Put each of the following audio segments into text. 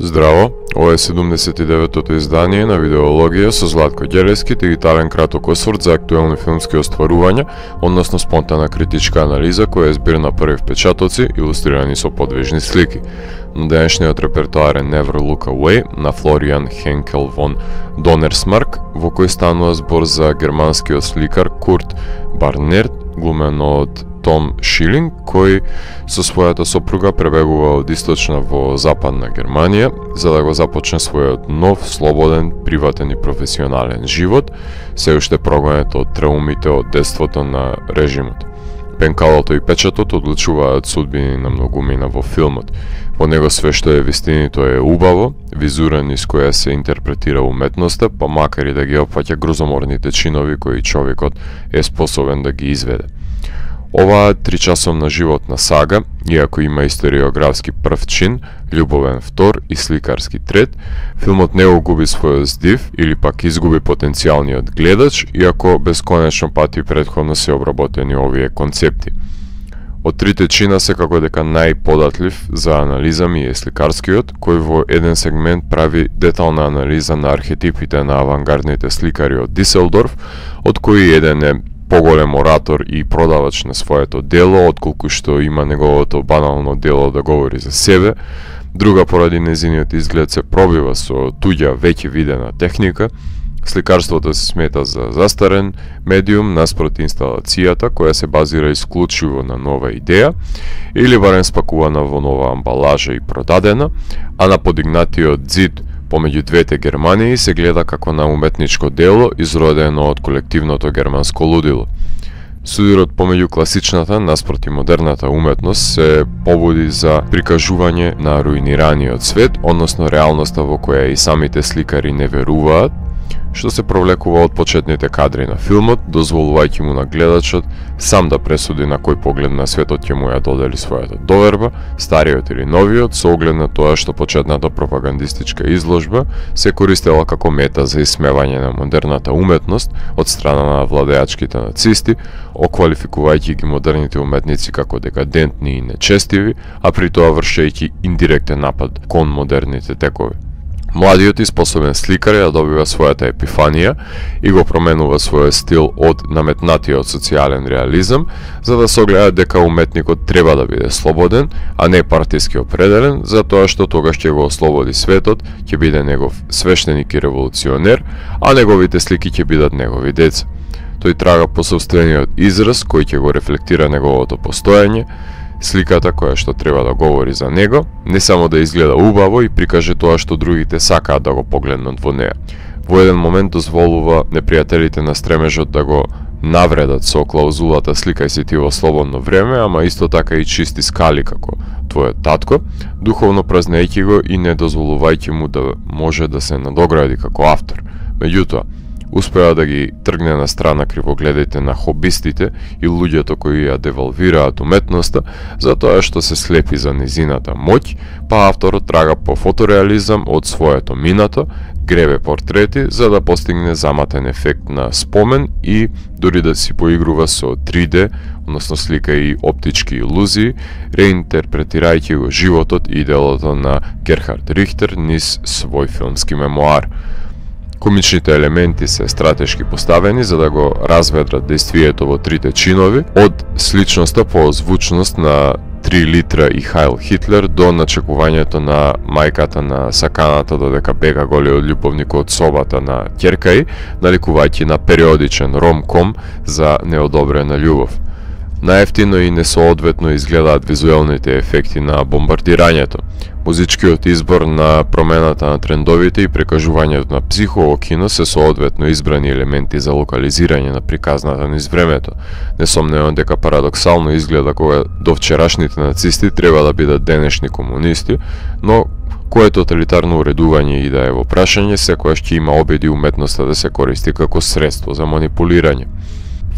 Здраво, ова е 79-тото издание на Видеологија со Златко Ѓелевски, дигитален краток осврт за актуелни филмски остварувања, односно спонтана критичка анализа која е збир на први впечатоци, илустрирани со подвижни слики. На денешниот репертоар е Never Look Away на Флориан Хенкел вон Донерсмарк, во кој станува збор за германскиот сликар Курт Барнерт, глумен од Том Шилинг, кој со својата сопруга пребегува од источна во западна Германија за да го започне својот нов, слободен, приватен и професионален живот, се уште прогонет од траумите од детството на режимот. Пенкалото и печатот одлучуваат судбини на многумина во филмот. Во него све што е вистинито е убаво, визура низ која се интерпретира уметноста, па макар и да ги опфаќа грозоморните чинови кои човекот е способен да ги изведе. Оваа тричасовна животна сага, иако има историографски прв чин, љубовен втор и сликарски трет, филмот не губи својот здив или пак изгуби потенцијалниот гледач, иако бесконечно пати претходно се обработени овие концепти. Од трите чина секако дека најподатлив за анализа ми е сликарскиот, кој во еден сегмент прави детална анализа на архетипите на авангардните сликари од Диселдорф, од кои еден е поголем оратор и продавач на своето дело, отколку што има неговото банално дело да говори за себе, друга поради незиниот изглед се пробива со туѓа веќе видена техника, сликарството се смета за застарен медиум наспроти инсталацијата која се базира исклучиво на нова идеја или барем спакувана во нова амбалажа и продадена, а на подигнатиот зид помеѓу двете Германии се гледа како на уметничко дело изродено од колективното германско лудило. Судирот помеѓу класичната наспроти модерната уметност се побуди за прикажување на руинираниот свет, односно реалноста во која и самите сликари не веруваат, што се провлекува од почетните кадри на филмот, дозволувајќи му на гледачот сам да пресуди на кој поглед на светот ќе му ја додели својата доверба, стариот или новиот, со оглед на тоа што почетната пропагандистичка изложба се користела како мета за исмевање на модерната уметност од страна на владеачките нацисти, оквалификувајќи ги модерните уметници како декадентни и нечестиви, а при тоа вршејќи индиректен напад кон модерните текови. Младиот и способен сликар ја добива својата епифанија и го променува својот стил од наметнатиот социјален реализам, за да се огледа дека уметникот треба да биде слободен, а не партиски определен, затоа што тогаш ќе го ослободи светот, ќе биде негов свештеник и револуционер, а неговите слики ќе бидат негови деца. Тој трага по сопствениот израз кој ќе го рефлектира неговото постоење, сликата која што треба да говори за него, не само да изгледа убаво и прикаже тоа што другите сакаат да го погледнат во неа. Во еден момент дозволува непријателите на стремежот да го навредат со клаузулата сликај си ти во слободно време, ама исто така и чисти скали како твојот татко, духовно празнејќи го и не дозволувајќи му да може да се надогради како автор. Меѓутоа, успеа да ги тргне на страна кривогледите на хобистите и луѓето кои ја девалвираат уметноста, затоа што се слепи за низината моќ, па авторот трага по фотореализам од своето минато, гребе портрети за да постигне заматен ефект на спомен и дури да си поигрува со 3D, односно слика и оптички илузии, реинтерпретирајќи го животот и делото на Герхард Рихтер низ свој филмски мемоар. Комичните елементи се стратешки поставени за да го разведрат действието во трите чинови, од сличноста по звучност на 3 литра и Хайл Хитлер до начекувањето на мајката на саканата додека бега голиот љубовник од собата на ќерка и, наликувајќи на периодичен ромком за неодобрена љубов. Наевтино и несоодветно изгледаат визуелните ефекти на бомбардирањето. Музичкиот избор на промената на трендовите и прекажувањето на психово кино се соодветно избрани елементи за локализирање на приказната низ времето. Несомнено дека парадоксално изгледа кога до вчерашните нацисти треба да бидат денешни комунисти, но кое тоталитарно уредување и да е во прашање, секојаш ќе има обиди уметноста да се користи како средство за манипулирање.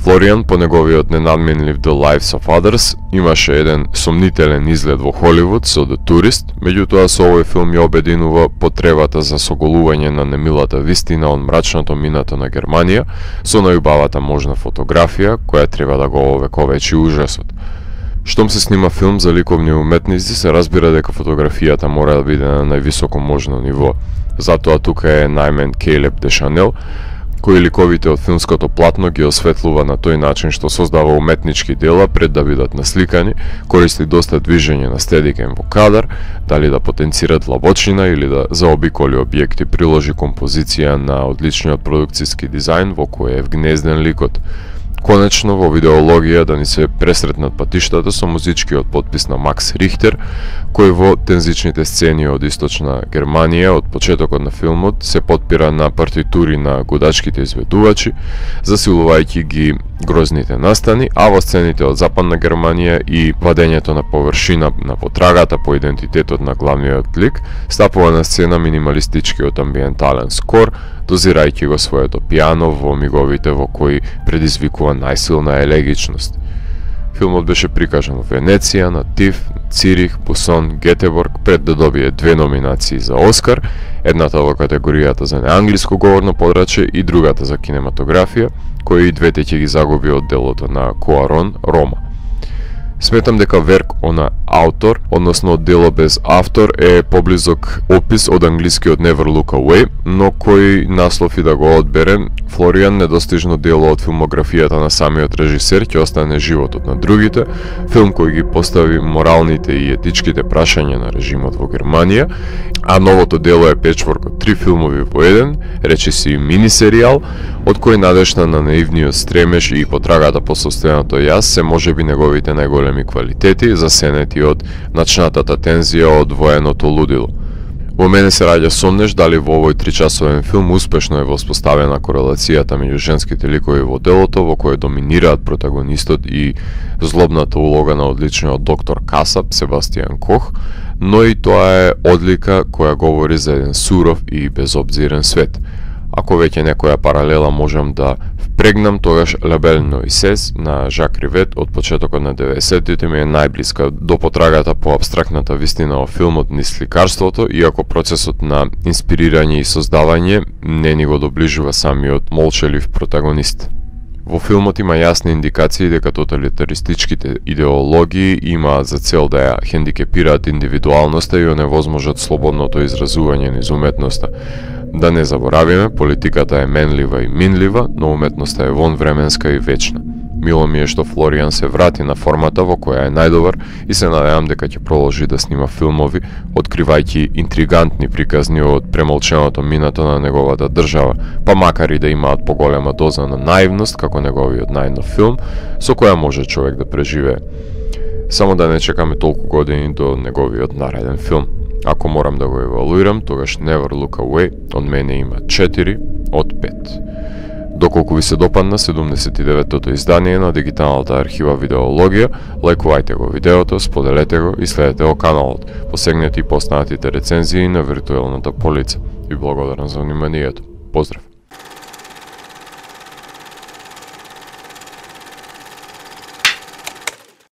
Флориан, по неговиот ненадменлив The Lives of Others, имаше еден сомнителен изглед во Холивуд со The Tourist, меѓутоа со овој филм ја обединува потребата за соголување на немилата вистина од мрачното минато на Германија со најубавата можна фотографија, која треба да го овековечи ужасот. Штом се снима филм за ликовни уметници, се разбира дека фотографијата мора да биде на највисоко можно ниво. Затоа тука е најмен Кейлеб де Шанел, кој ликовите од филмското платно ги осветлува на тој начин што создава уметнички дела пред да бидат насликани, користи доста движење на стедикен во кадар, дали да потенцира длабочина или да заобиколи објекти, приложи композиција на одличниот продукцијски дизајн во кој е вгнезден ликот. Конечно, во видеологија да ни се пресретнат патиштата со музичкиот потпис на Макс Рихтер, кој во тензичните сцени од источна Германија од почетокот на филмот се потпира на партитури на гудачките изведувачи, засилувајќи ги грозните настани, а во сцените од западна Германија и вадењето на површина на потрагата по идентитетот на главниот лик, стапува на сцена минималистичкиот амбиентален скор, дозирајќи го своето пијано во миговите во кои предизвикува најсилна елегичност. Филмот беше прикажан во Венеција, на ТИФ, Цирих, Бусон, Гетеборг пред да добие 2 номинации за Оскар, едната во категоријата за неанглиско говорно подрачје и другата за кинематографија, кои и двете ќе ги загуби од делото на Куарон, Рома. Сметам дека верк на автор, односно дело без автор, е поблизок опис од англискиот Never Look Away, но кој наслов и да го одбере, Флориан, недостижно дело од филмографијата на самиот режисер, ќе остане животот на другите, филм кој ги постави моралните и етичките прашања на режимот во Германија, а новото дело е печворк од 3 филмови во еден, речиси мини-серијал, од кој надежта на наивниот стремеж и потрагата по состојаното јас се можеби неговите најголеми квалитети, засенети од начнатата тензија од военото лудило. Во мене се раѓа сомнеш дали во овој 3-часовен филм успешно е воспоставена корелацијата меѓу женските ликови во делото, во кое доминираат протагонистот и злобната улога на одличниот доктор Касап, Себастијан Кох, но и тоа е одлика која говори за еден суров и безобзирен свет. Ако веќе некоја паралела можам да впрегнам, тогаш Лабелно и Сес на Жак Ривет од почетокот на 90-тите ми е најблиска до потрагата по абстрактната вистина во филмот низ сликарството, иако процесот на инспирирање и создавање не ни го доближува самиот молчелив протагонист. Во филмот има јасни индикации дека тоталитаристичките идеологии имаат за цел да ја хендикепираат индивидуалноста и оневозможат слободното изразување низ уметноста. Да не заборавиме, политиката е менлива и минлива, но уметноста е вонвременска и вечна. Мило ми е што Флориан се врати на формата во која е најдобар и се надевам дека ќе продолжи да снима филмови, откривајќи интригантни приказни од премолченото минато на неговата држава, па макар и да имаат поголема доза на наивност како неговиот најнов филм, со која може човек да преживее. Само да не чекаме толку години до неговиот нареден филм. Ако морам да го евалуирам, тогаш Never Look Away од мене има 4 од 5. Доколку ви се допадна 79-тото издание на дигиталната архива Видеологија, лајкувајте го видеото, споделете го и следете го каналот. Посегнете и постанатите рецензии на виртуелната полица. Ви благодарам за вниманието. Поздрав!